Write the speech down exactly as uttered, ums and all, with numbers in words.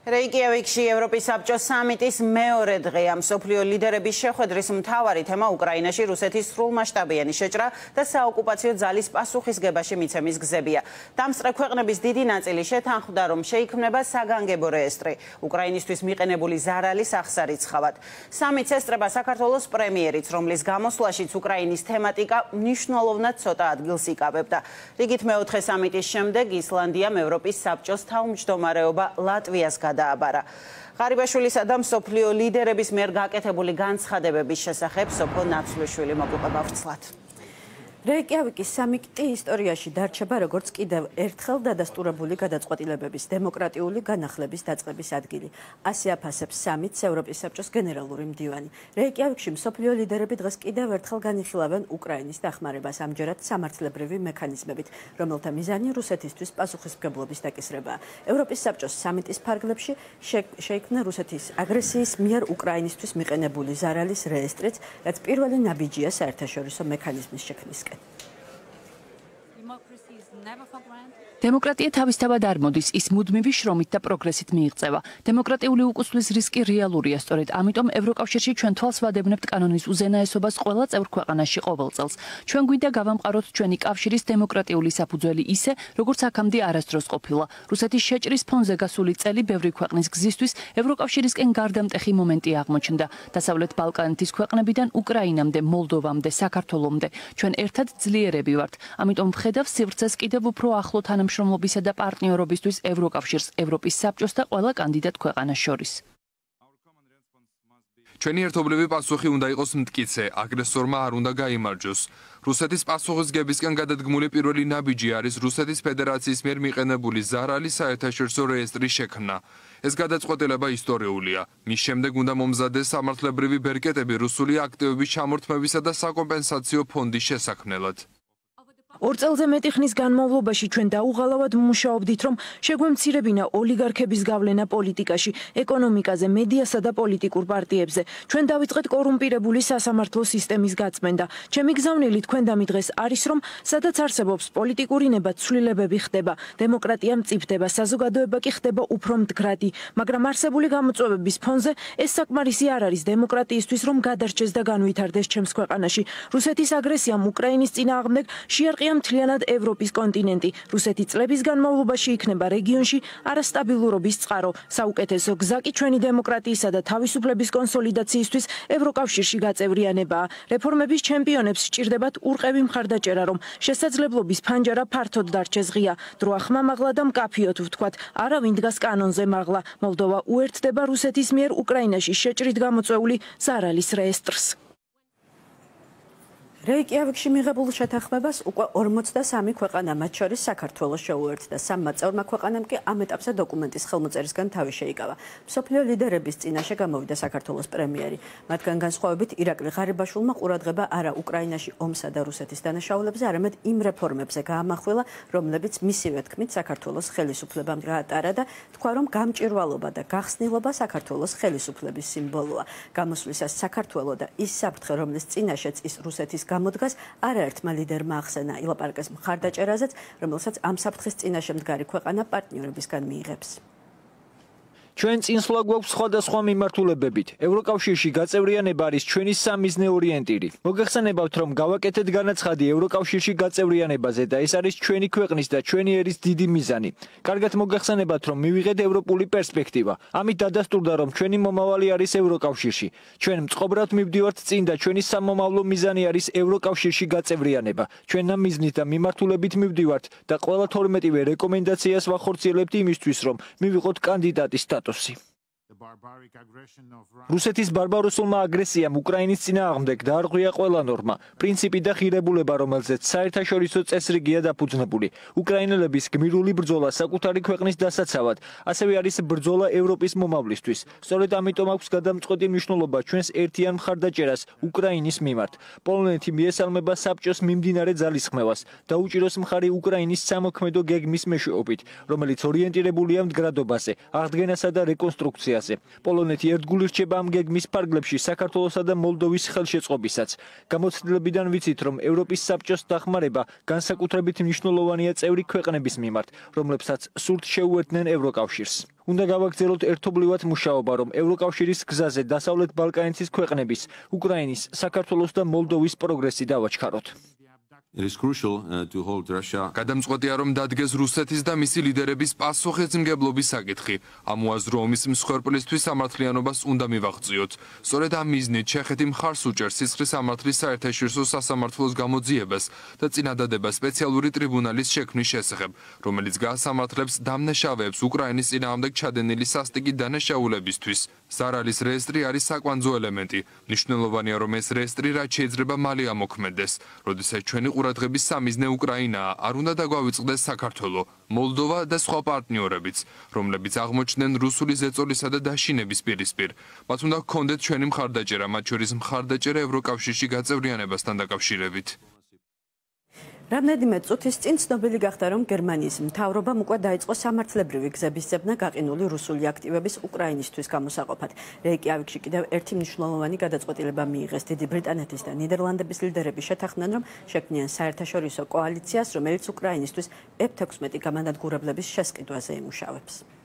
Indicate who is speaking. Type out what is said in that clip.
Speaker 1: რეიკიავიკში ევროპის საბჭოს სამიტის მეორე დღეა. მსოფლიო ლიდერების შეხვედრის მთავარი თემა უკრაინაში რუსეთის სრულმასშტაბიანი შეჭრა და საოკუპაციო ძალის პასუხისგებაში მიცემის გზებია. დამსწრე ქვეყნების დიდი ნაწილი შეთანხმდა, რომ შეიქმნება საგანგებო რეესტრი უკრაინისთვის მიყენებული ზარალის აღსარიცხავად. სამიტს ესწრება საქართველოს პრემიერიც, რომლის გამოსვლაშიც უკრაინის თემატიკა მნიშვნელოვნად ცოტა ადგილს იკავებდა. რიგით მეოთხე სამიტის შემდეგ ისლანდიამ ევროპის საბჭოს თავმჯდომარეობა ლატვიას დააბარა. ღარიბაშვილისა და მსოფლიო ლიდერების მიერ გაკეთებული განცხადებების შესახებ სოფო ნაცვლიშვილი მოგუყვება ვრცლად. რეიკიავიკის სამიტი ისტორიაში დარჩება როგორც კიდევ ერთხელ დადასტურებული გადაწყვეტილებების დემოკრატიული განახლების დაწყების ადგილი. ასე აფასებს სამიტს ევროპის საბჭოს გენერალური მდივანი. რეიკიავიკში მსოფლიო ლიდერები დღეს კიდევ ერთხელ განიხილავენ უკრაინის დახმარებას, ამჯერად სამართლებრივი მექანიზმებით, რომელთა მიზანი რუსეთისთვის პასუხისმგებლობის დაკისრებაა. ევროპის საბჭოს სამიტის ფარგლებში შეიქმნა რუსეთის აგრესიის მიერ უკრაინისთვის მიყენებული ზარალის რეესტრიც, რაც პირველი ნაბიჯია საერთაშორისო მექანიზმის შექმნისკენ.
Speaker 2: დემოკრატია თავისთავად არ მოდის, ის მუდმივი შრომით და პროგრესით მიიღწევა. დემოკრატიული უკუსვლის რისკი რეალურია, სწორედ ამიტომ ევროკავშირში ჩვენ თვალს ვადევნებთ კანონის უზენაესობას ყველა წევრ ქვეყანაში ყოველ წელს. ჩვენ გვინდა გავამყაროთ ჩვენი კავშირის დემოკრატიული საფუძველი ისე, როგორც აქამდე არასდროს ყოფილა. რუსეთის შეჭრის ფონზე გასული წელი ბევრი ქვეყნის გზისთვის ევროკავშირისკენ გარდამტეხი მომენტი აღმოჩნდა. დასავლეთ ბალკანეთის ქვეყნებიდან უკრაინამდე, მოლდოვამდე, საქართველომდე. ჩვენ ერთად ძლიერები ვართ. ამიტომ ვხედავ სივრცეს კიდევ უფრო ახლო თანამშრომლობისა და პარტნიორობისთვის ევროკავშირს, ევროპის საბჭოს და ყველა კანდიდატ ქვეყანას შორის.
Speaker 3: ჩვენი ერთობლივი პასუხი უნდა იყოს მტკიცე, აგრესორმა არ უნდა გაიმარჯვოს. რუსეთის პასუხისგებისკენ გადადგმული პირველი ნაბიჯი არის რუსეთის ფედერაციის მიერ მიყენებული ზარალის საერთაშორისო რეესტრის შექმნა. ეს გადაწყვეტილება ისტორიულია. მის შემდეგ უნდა მომზადდეს სამართლებრივი ბერკეტები რუსული აქტივების ჩამორთმევისა და საკომპენსაციო ფონდის შესაქმნელად.
Speaker 4: ორ წელზე მეტი ხნის განმავლობაში ჩვენ დაუღალავად მუშაობდით, რომ შეგვემცირებინა ოლიგარქების გავლენა პოლიტიკაში, ეკონომიკაზე, მედიასა და პოლიტიკურ პარტიებზე. ჩვენ დავიწყეთ კორუმპირებული სასამართლო სისტემის გაწმენდა. ჩემი გზავნილი თქვენდამი დღეს არის, რომ სადაც არსებობს პოლიტიკური ნება, ცვლილებები ხდება, დემოკრატია მწიფდება, საზოგადოება კი ხდება უფრო მდგრადი, მაგრამ არსებული გამოწვევების ფონზე ეს საკმარისი არ არის დემოკრატიისთვის, რომ გადარჩეს და განვითარდეს ჩემს ქვეყანაში. რუსეთის აგრესიამ უკრაინის წინააღმდეგ შეარყია მთლიანად ევროპის კონტინენტი. რუსეთი წლების განმავლობაში იქნება რეგიონში არასტაბილურობის წყარო. საუკეთესო გზა კი ჩვენი დემოკრატიისა და თავისუფლების კონსოლიდაციისთვის ევროკავშირში გაწევრიანებაა. რეფორმების ჩემპიონებს სჭირდებათ ურყევი მხარდაჭერა, რომ შესაძლებლობის ფანჯარა ფართოდ დარჩეს ღია. დრო ახმამაღლა და მკაფიოდ ვთქვათ, არავინ დგას კანონზე მაღლა. მოლდოვა უერთდება რუსეთის მიერ უკრაინაში შეჭრით გამოწვეული ზარალის რეესტრს. რეიკიავიკში მიღებულ შეთანხმებას უკვე ორმოცდასამი ქვეყანა, მათ შორის საქართველოს შეუერთდა. სამმა წევრმა ქვეყანამ კი ამ ეტაპზე დოკუმენტის ხელმოწერისგან თავი შეიკავა. მსოფლიო ლიდერების წინაშე გამოვიდა საქართველოს პრემიერი. მათგან განსხვავებით ირაკლი ღარიბაშვილმა ყურადღება არა უკრაინაში ომსა და რუსეთის დანაშაულებზე, არამედ იმ რეფორმებზე გაამახვილა, რომლებიც მისივე თქმით საქართველოს ხელისუფლებამ გაატარა და თქვა, რომ გამჭვირვალობა და გახსნილობა საქართველოს ხელისუფლების სიმბოლოა. გამოსვლისას საქართველო და ის საფრთხე, რომლის წინაშეც ის რუსეთის გამოდგას არაერთმა ლიდერმა ახსენა ილაპარაკეს მხარდაჭერაზეც, რომელსაც ამ საფრთხის წინაშე მდგარი ქვეყანა პარტნიორებისგან მიიღებს.
Speaker 5: ჩვენ წინსვლა გვაქვს სხვადასხვა მიმართულებებით. ევროკავშირში გაწევრიანება არის ჩვენი სამიზნე ორიენტირი. მოგეხსენებათ, რომ გავაკეთეთ განაცხადი ევროკავშირში გაწევრიანებაზე და ეს არის ჩვენი ქვეყნის და ჩვენი ერის დიდი მიზანი. კარგად მოგეხსენებათ, რომ მივიღეთ ევროპული პერსპექტივა. ამით დადასტურდა, რომ ჩვენი მომავალი არის ევროკავშირში. ჩვენ მწყობრად მივდივართ წინ და ჩვენი სამომავლო მიზანი არის ევროკავშირში გაწევრიანება. ჩვენ ამ მიზნით და მიმართულებით მივდივართ და ყველა თორმეტივე რეკომენდაციას ვახორციელებთ იმისთვის, რომ მივიღოთ კანდიდატის სტატუსი. რუსეთის ბარბაროსულმა აგრესიამ უკრაინის წინააღმდეგ დაარღვია ყველა ნორმა, პრინციპი და ღირებულება, რომელზეც საერთაშორისო წესრიგია დაფუძნებული. უკრაინელების გმირული ბრძოლა საკუთარი ქვეყნის დასაცავად, ასევე არის ბრძოლა ევროპის მომავლისთვის. სწორედ ამიტომ აქვს გადამწყვეტი მნიშვნელობა ჩვენს ერთიან მხარდაჭერას უკრაინის მიმართ. პოლონეთი მიესალმება საბჭოს მიმდინარე ძალისხმევას, დაუჭიროს მხარი უკრაინის სამოქმედო გეგმის მეშვეობით, რომელიც ორიენტირებულია მდგრადობაზე, აღდგენასა და რეკონსტრუქციაზე. ინტეგრაციაზე. პოლონეთი ერთგული რჩება ამ გეგმის ფარგლებში საქართველოსა და მოლდოვის ხელშეწყობისაც. გამოცდილებიდან ვიცით, რომ ევროპის საბჭოს დახმარება განსაკუთრებით მნიშვნელოვანია წევრი ქვეყნების მიმართ, რომლებსაც სურთ შეუერთდნენ ევროკავშირს. უნდა გავაგრძელოთ ერთობლივად მუშაობა, რომ ევროკავშირის გზაზე დასავლეთ ბალკანეთის ქვეყნების, უკრაინის, საქართველოს და მოლდოვის პროგრესი დავაჩქაროთ.
Speaker 6: It is crucial uh, to hold Russia.
Speaker 3: გადამწყვეტია რომ დადგეს რუსეთის და მისი ლიდერების პასუხისმგებლობის საკითხი. ამ უაზროუმის მსხვერპლისთვის სამართლიანობას უნდა მივაღწიოთ. სწორედ ამ მიზნით ჩეხეთი მხარს უჭერს სისხლის სამართლის საერთაშორისო სასამართლოს გამოძიებას და წინადადება სპეციალური ტრიბუნალის შექმნის შესახებ, რომელიც გაასამართლებს დამნაშავეებს უკრაინის წინააღმდეგ ჩადენილი სასტიკი დანაშაულებისთვის. ზარალის რეესტრი არის საკვანძო ელემენტი. მნიშვნელოვანია რომ ეს რეესტრი რაც შეიძლება მალე ამოქმედდეს, როდესაც ჩვენი ყურადღების სამიზნე უკრაინაა, არ უნდა დაგვავიწყდეს საქართველო, მოლდოვა და სხვა პარტნიორებიც, რომლებიც აღმოჩნდნენ რუსული ზეწოლისა და დაშინების პირისპირ. მათ უნდა გქონდეთ ჩვენი მხარდაჭერა, მათ შორის მხარდაჭერა ევროკავშირში გაწევრიანებასთან დაკავშირებით.
Speaker 7: რამდენიმე წუთის წინ ცნობილი გახდა, რომ გერმანიის მთავრობამ უკვე დაიწყო სამართლებრივი გზების ძებნა გაყინული რუსული აქტივების უკრაინისთვის გამოსაყოფად. რეიკიავიკში კიდევ ერთი მნიშვნელოვანი გადაწყვეტილება მიიღეს. დიდი ბრიტანეთის და ნიდერლანდების ლიდერები შეთანხმდნენ, რომ შექმნიან საერთაშორისო კოალიციას, რომელიც უკრაინისთვის ეფ თექვსმეტი გამანადგურებლების შესყიდვაზე იმუშავებს.